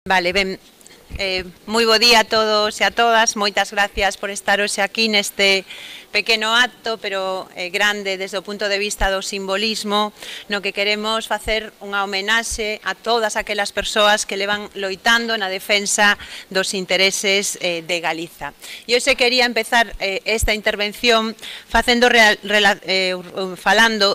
Vale, ben, moi bo día a todos e a todas, moitas gracias por estar hoxe aquí neste pequeno acto, pero grande desde o punto de vista do simbolismo, no que queremos facer unha homenaxe a todas aquelas persoas que levan loitando na defensa dos intereses de Galiza. E hoxe quería empezar esta intervención falando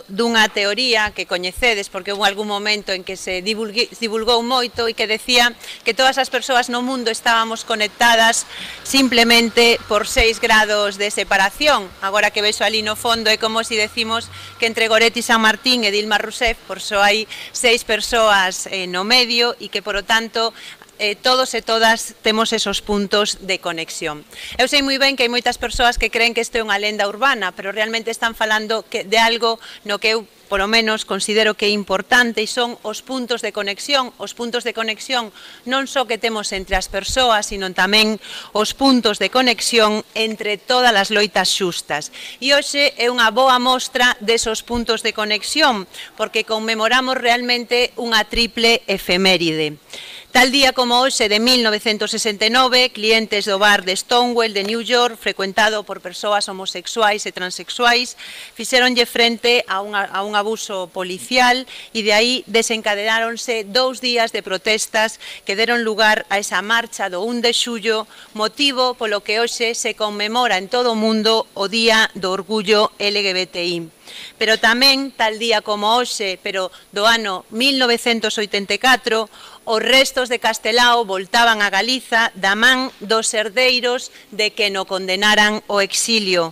dunha teoría que coñecedes, porque houve algún momento en que se divulgou moito e que decía que todas as persoas no mundo estábamos conectadas simplemente por 6 grados de separación. Agora que vexo ali no fondo é como se decimos que entre Goretti San Martín e Dilma Rousseff por só hai 6 persoas no medio e que, por lo tanto, todos e todas temos esos puntos de conexión. Eu sei moi ben que hai moitas persoas que creen que isto é unha lenda urbana, pero realmente están falando de algo no que eu, por lo menos, considero que é importante, e son os puntos de conexión. Os puntos de conexión non só que temos entre as persoas, sino tamén os puntos de conexión entre todas as loitas xustas. E hoxe é unha boa mostra desos puntos de conexión, porque conmemoramos realmente unha triple efeméride. Tal día como hoxe de 1969, clientes do bar de Stonewall de New York, frecuentado por persoas homosexuais e transexuais, fixeronlle frente a un abuso policial e de aí desencadenáronse 2 días de protestas que deron lugar a esa marcha do 1 de xullo, motivo polo que hoxe se conmemora en todo o mundo o Día do Orgullo LGBTI. Pero tamén, tal día como hoxe, pero do ano 1984, os restos de Castelao voltaban a Galiza da man dos herdeiros de que no condenaran o exilio.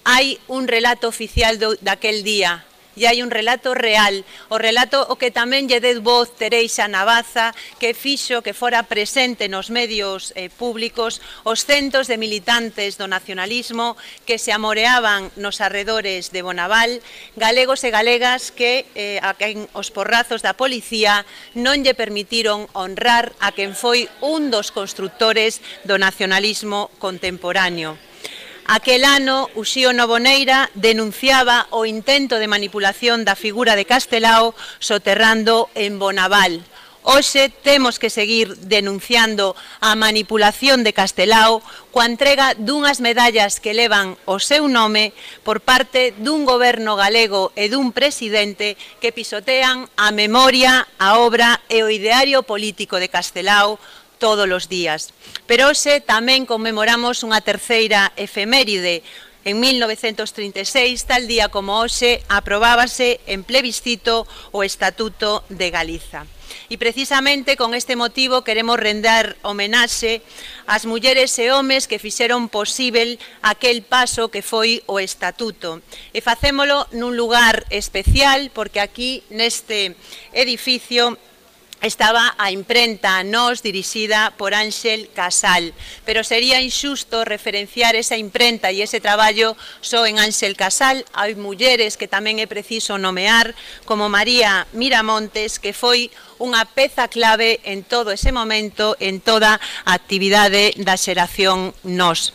Hai un relato oficial daquel día, e hai un relato real, o relato o que tamén lle deu voz Tereixa Navaza, que fixo que fora presente nos medios públicos os centos de militantes do nacionalismo que se amoreaban nos arredores de Bonaval, galegos e galegas que a quen os porrazos da policía non lle permitiron honrar a quen foi un dos constructores do nacionalismo contemporáneo. Aquel ano, Uxío Novoneira denunciaba o intento de manipulación da figura de Castelao soterrando en Bonaval. Hoxe temos que seguir denunciando a manipulación de Castelao coa entrega dunhas medallas que levan o seu nome por parte dun goberno galego e dun presidente que pisotean a memoria, a obra e o ideario político de Castelao todos os días. Pero hoxe tamén conmemoramos unha terceira efeméride. En 1936, tal día como hoxe, aprobábase en plebiscito o Estatuto de Galiza. E precisamente con este motivo queremos render homenaxe ás mulleres e homes que fixeron posíbel aquel paso que foi o Estatuto. E facémolo nun lugar especial, porque aquí neste edificio estaba a imprenta Nós, dirixida por Ángel Casal, pero sería injusto referenciar esa imprenta e ese traballo só en Ángel Casal. Hai mulleres que tamén é preciso nomear, como María Miramontes, que foi unha peza clave en todo ese momento, en toda a actividade da xeración Nós.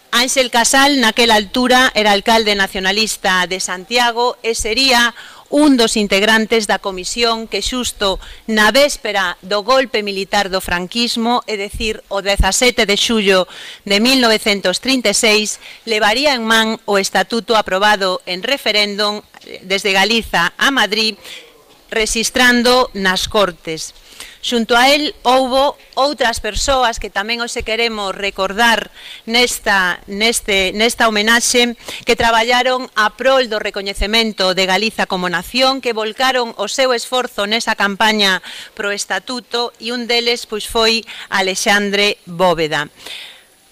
Ángel Casal, naquela altura, era alcalde nacionalista de Santiago e sería un dos integrantes da comisión que xusto na véspera do golpe militar do franquismo, é dicir, o 17 de xullo de 1936, levaría en man o estatuto aprobado en referéndum desde Galiza a Madrid, rexistrando nas Cortes. Xunto a él houbo outras persoas que tamén hoxe queremos recordar nesta homenaxe, que traballaron a prol do recoñecemento de Galiza como nación, que volcaron o seu esforzo nesa campaña pro estatuto, e un deles pois foi Alexandre Bóveda.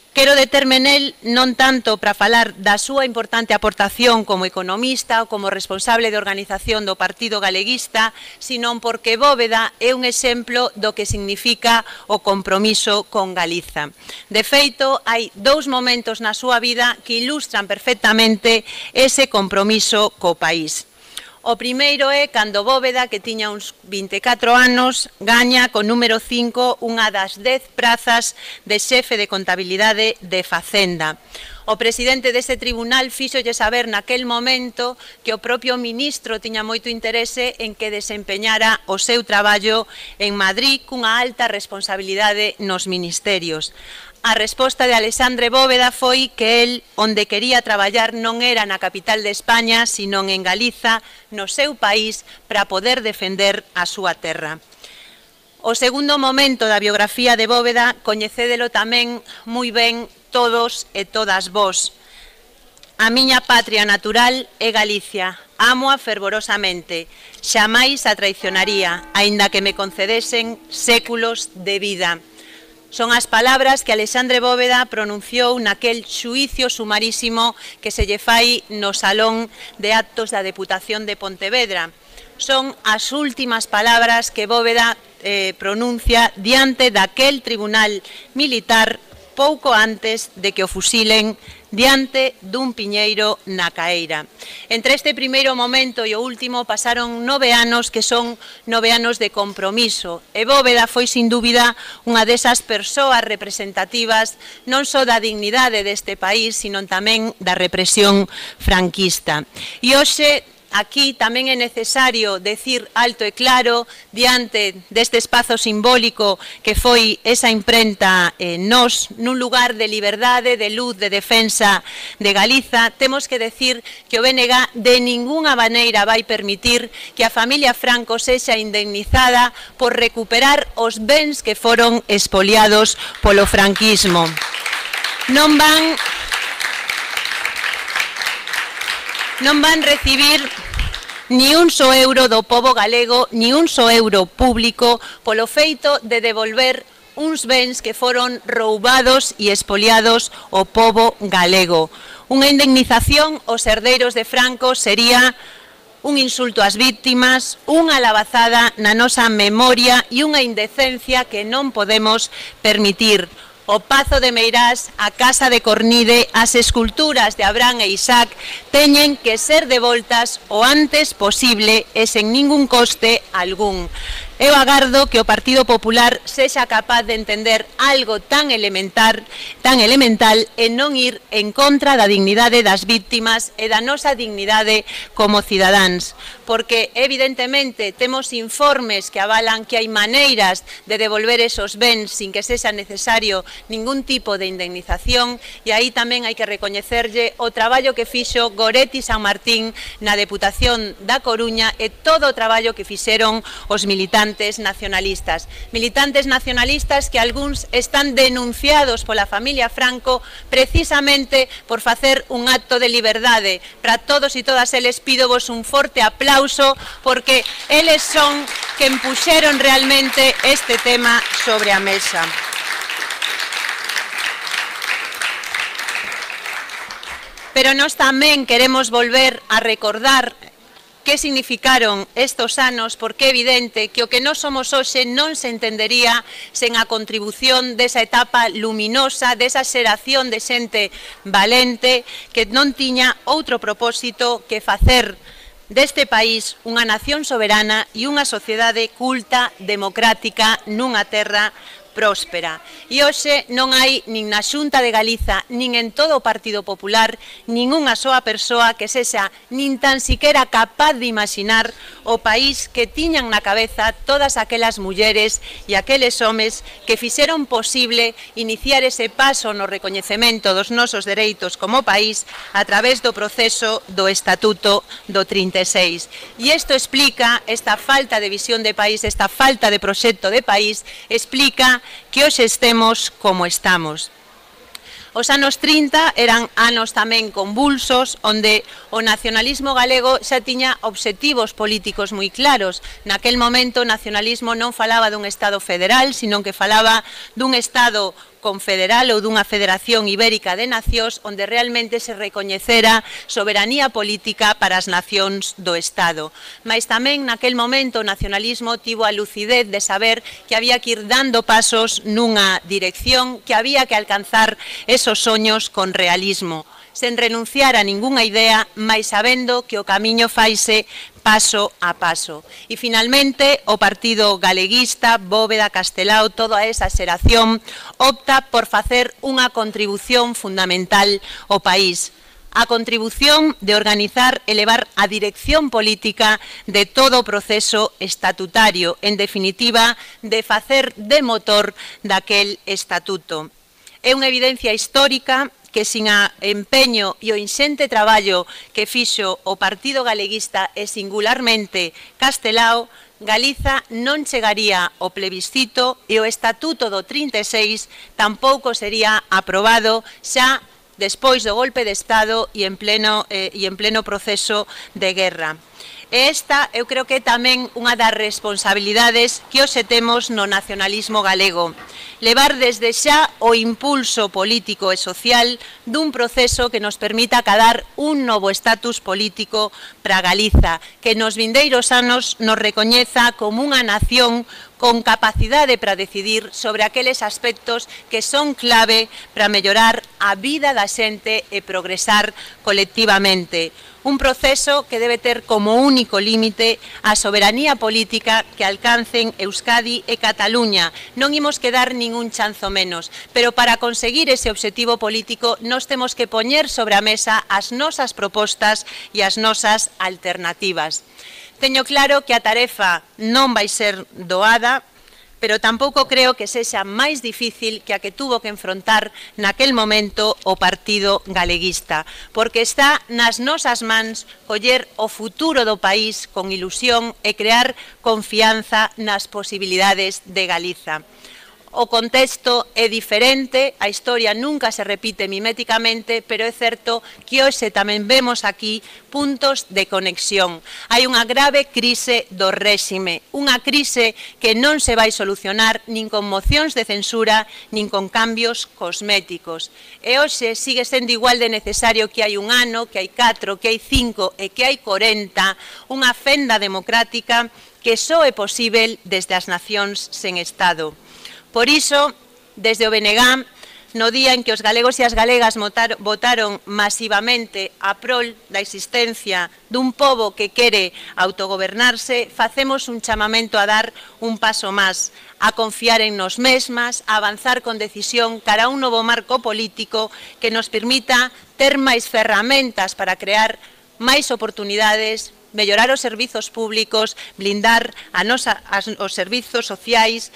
Quero determe nel non tanto para falar da súa importante aportación como economista ou como responsable de organización do Partido Galeguista, sino porque Bóveda é un exemplo do que significa o compromiso con Galiza. De feito, hai 2 momentos na súa vida que ilustran perfectamente ese compromiso co país. O primeiro é cando Bóveda, que tiña uns 24 anos, gaña con número 5 unha das 10 prazas de xefe de contabilidade de Facenda. O presidente dese tribunal fíxolle saber naquel momento que o propio ministro tiña moito interese en que desempeñara o seu traballo en Madrid cunha alta responsabilidade nos ministerios. A resposta de Alexandre Bóveda foi que el onde quería traballar non era na capital de España, sino en Galiza, no seu país, para poder defender a súa terra. O segundo momento da biografía de Bóveda coñecédelo tamén moi ben todos e todas vós. A miña patria natural é Galicia, ámoa fervorosamente, xamais a traicionaría, aínda que me concedesen séculos de vida. Son as palabras que Alexandre Bóveda pronunciou naquel xuicio sumarísimo que se lle fai no Salón de Actos da Deputación de Pontevedra. Son as últimas palabras que Bóveda pronuncia diante daquel tribunal militar pouco antes de que o fusilen diante dun piñeiro na Caeira. Entre este primeiro momento e o último pasaron 9 anos que son 9 anos de compromiso e Bóveda foi sin dúbida unha desas persoas representativas non só da dignidade deste país, sino tamén da represión franquista. E hoxe aquí tamén é necesario decir alto e claro diante deste espazo simbólico que foi esa imprenta Nós, nun lugar de liberdade, de luz, de defensa de Galiza, temos que decir que o BNG de ningunha maneira vai permitir que a familia Franco sexa indemnizada por recuperar os bens que foron expoliados polo franquismo. Non van recibir ni un só euro do pobo galego, ni un só euro público polo feito de devolver uns bens que foron roubados e expoliados ao pobo galego. Unha indemnización aos herdeiros de Franco sería un insulto ás víctimas, unha labazada na nosa memoria e unha indecencia que non podemos permitir. O Pazo de Meirás, a Casa de Cornide, as esculturas de Abraham e Isaac teñen que ser devoltas o antes posible e sen ningún coste algún. Eu agardo que o Partido Popular sexa capaz de entender algo tan elemental e non ir en contra da dignidade das víctimas e da nosa dignidade como cidadáns. Porque, evidentemente, temos informes que avalan que hai maneiras de devolver esos bens sin que sexa necesario ningún tipo de indemnización e aí tamén hai que recoñecerlle o traballo que fixo Goretti San Martín na Deputación da Coruña e todo o traballo que fixeron os militantes nacionalistas. Militantes nacionalistas que algúns están denunciados pola familia Franco precisamente por facer un acto de liberdade. Para todos e todas eles pídovos un forte aplauso porque eles son quen puxeron realmente este tema sobre a mesa. Pero nós tamén queremos volver a recordar que significaron estos anos, porque é evidente que o que nós somos hoxe non se entendería sen a contribución desa etapa luminosa, desa xeración de xente valente que non tiña outro propósito que facer deste país unha nación soberana e unha sociedade culta, democrática, nunha terra próspera. E hoxe non hai nin na Xunta de Galiza, nin en todo o Partido Popular, nin unha soa persoa que sexa nin tan siquera capaz de imaginar o país que tiñan na cabeza todas aquelas mulleres e aqueles homes que fixeron posible iniciar ese paso no recoñecemento dos nosos dereitos como país a través do proceso do Estatuto do 36. E isto explica esta falta de visión de país, esta falta de proxecto de país, explica que hoxe estemos como estamos. Os anos 30 eran anos tamén convulsos, onde o nacionalismo galego xa tiña obxectivos políticos moi claros. Naquel momento o nacionalismo non falaba dun Estado federal, sino que falaba dun Estado confederal ou dunha federación ibérica de nacións onde realmente se recoñecera soberanía política para as nacións do Estado. Mais tamén naquel momento o nacionalismo tivo a lucidez de saber que había que ir dando pasos nunha dirección, que había que alcanzar esos soños con realismo. sen renunciar a ningunha idea, mais sabendo que o camiño faise paso a paso. E, finalmente, o Partido Galeguista, Bóveda, Castelao, toda esa xeración, opta por facer unha contribución fundamental ao país. A contribución de organizar e levar a dirección política de todo o proceso estatutario, en definitiva, de facer de motor daquel estatuto. É unha evidencia histórica que sin a empeño e o inxente traballo que fixo o Partido Galeguista e singularmente Castelao, Galiza non chegaría ao plebiscito e o Estatuto do 36 tampouco sería aprobado xa despois do golpe de Estado e en pleno proceso de guerra. E esta, eu creo que é tamén unha das responsabilidades que hoxe temos no nacionalismo galego. Levar desde xa o impulso político e social dun proceso que nos permita acadar un novo estatus político para Galiza, que nos vindeiros anos nos recoñeza como unha nación con capacidade para decidir sobre aqueles aspectos que son clave para mellorar a vida da xente e progresar colectivamente. Un proceso que debe ter como único límite a soberanía política que alcancen Euskadi e Cataluña. Non imos quedar ningún chanzo menos, pero para conseguir ese obxectivo político nos temos que poñer sobre a mesa as nosas propostas e as nosas alternativas. Teño claro que a tarefa non vai ser doada, pero tampouco creo que sexa máis difícil que a que tuvo que enfrontar naquel momento o Partido Galeguista, porque está nas nosas mans coller o futuro do país con ilusión e crear confianza nas posibilidades de Galiza. O contexto é diferente, a historia nunca se repite miméticamente, pero é certo que hoxe tamén vemos aquí puntos de conexión. Hai unha grave crise do réxime, unha crise que non se vai solucionar nin con mocións de censura, nin con cambios cosméticos. E hoxe sigue sendo igual de necesario que hai un ano, que hai 4, que hai 5 e que hai 40, unha fenda democrática que só é posíbel desde as nacións sen Estado. Por iso, desde o BNG, no día en que os galegos e as galegas votaron masivamente a prol da existencia dun pobo que quere autogobernarse, facemos un chamamento a dar un paso máis, a confiar en nos mesmas, a avanzar con decisión cara a un novo marco político que nos permita ter máis ferramentas para crear máis oportunidades, mellorar os servizos públicos, blindar os servizos sociais,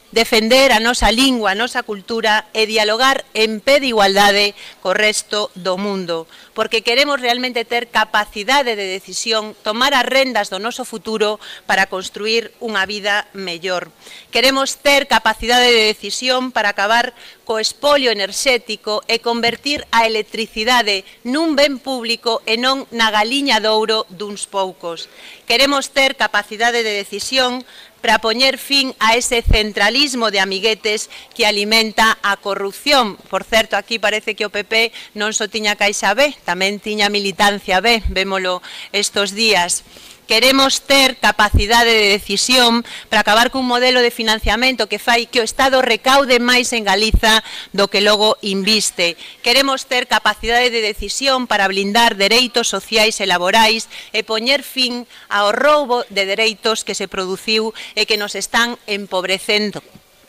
defender a nosa lingua, a nosa cultura e dialogar en pé de igualdade co resto do mundo, porque queremos realmente ter capacidade de decisión, tomar as rendas do noso futuro para construir unha vida mellor. Queremos ter capacidade de decisión para acabar co espolio enerxético e convertir a electricidade nun ben público e non na galiña de ouro duns poucos. Queremos ter capacidade de decisión para poñer fin a ese centralismo de amiguetes que alimenta a corrupción. Por certo, aquí parece que o PP non só tiña Caixa B, tamén tiña militancia B, vémolo estos días. Queremos ter capacidade de decisión para acabar cun modelo de financiamento que fai que o Estado recaude máis en Galiza do que logo inviste. Queremos ter capacidade de decisión para blindar dereitos sociais e laborais e poñer fin ao roubo de dereitos que se produciu e que nos están empobrecendo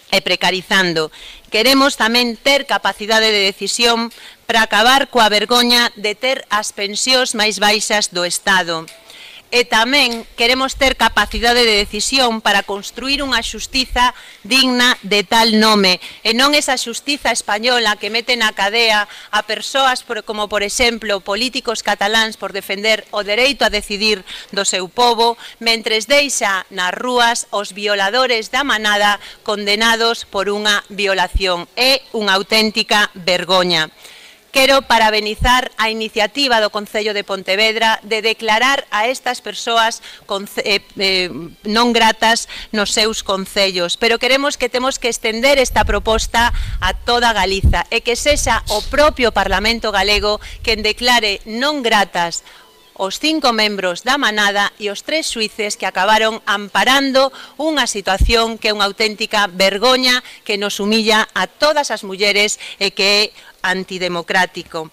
e precarizando. Queremos tamén ter capacidade de decisión para acabar coa vergoña de ter as pensións máis baixas do Estado. E tamén queremos ter capacidade de decisión para construir unha xustiza digna de tal nome, e non esa xustiza española que mete na cadea a persoas como, por exemplo, políticos cataláns por defender o dereito a decidir do seu pobo, mentres deixa nas rúas os violadores da manada condenados por unha violación. É unha auténtica vergoña. Quero parabenizar a iniciativa do Concello de Pontevedra de declarar a estas persoas non gratas nos seus concellos, pero queremos que temos que estender esta proposta a toda Galiza e que sexa o propio Parlamento galego quen declare non gratas os 5 membros da manada e os 3 xuíces que acabaron amparando unha situación que é unha auténtica vergoña que nos humilla a todas as mulleres e que é antidemocrático.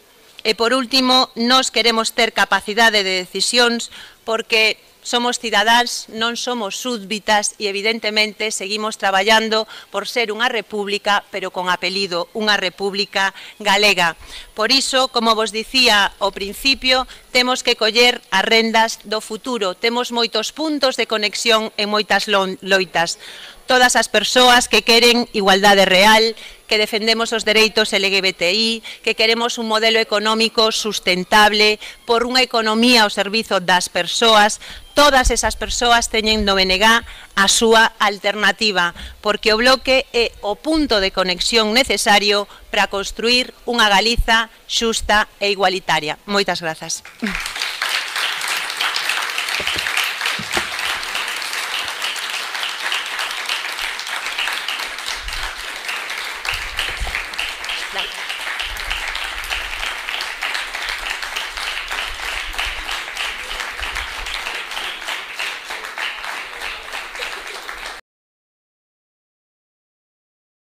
E, por último, nós queremos ter capacidade de decisións porque somos cidadáns, non somos súbditas e, evidentemente, seguimos traballando por ser unha república, pero con apelido, unha república galega. Por iso, como vos dicía ao principio, temos que coller as rendas do futuro. Temos moitos puntos de conexión e moitas loitas. Todas as persoas que queren igualdade real, que defendemos os dereitos LGBTI, que queremos un modelo económico sustentable por unha economía ao servizo das persoas, todas esas persoas teñen no BNG a súa alternativa, porque o bloque é o punto de conexión necesario para construir unha Galiza xusta e igualitaria. Moitas grazas.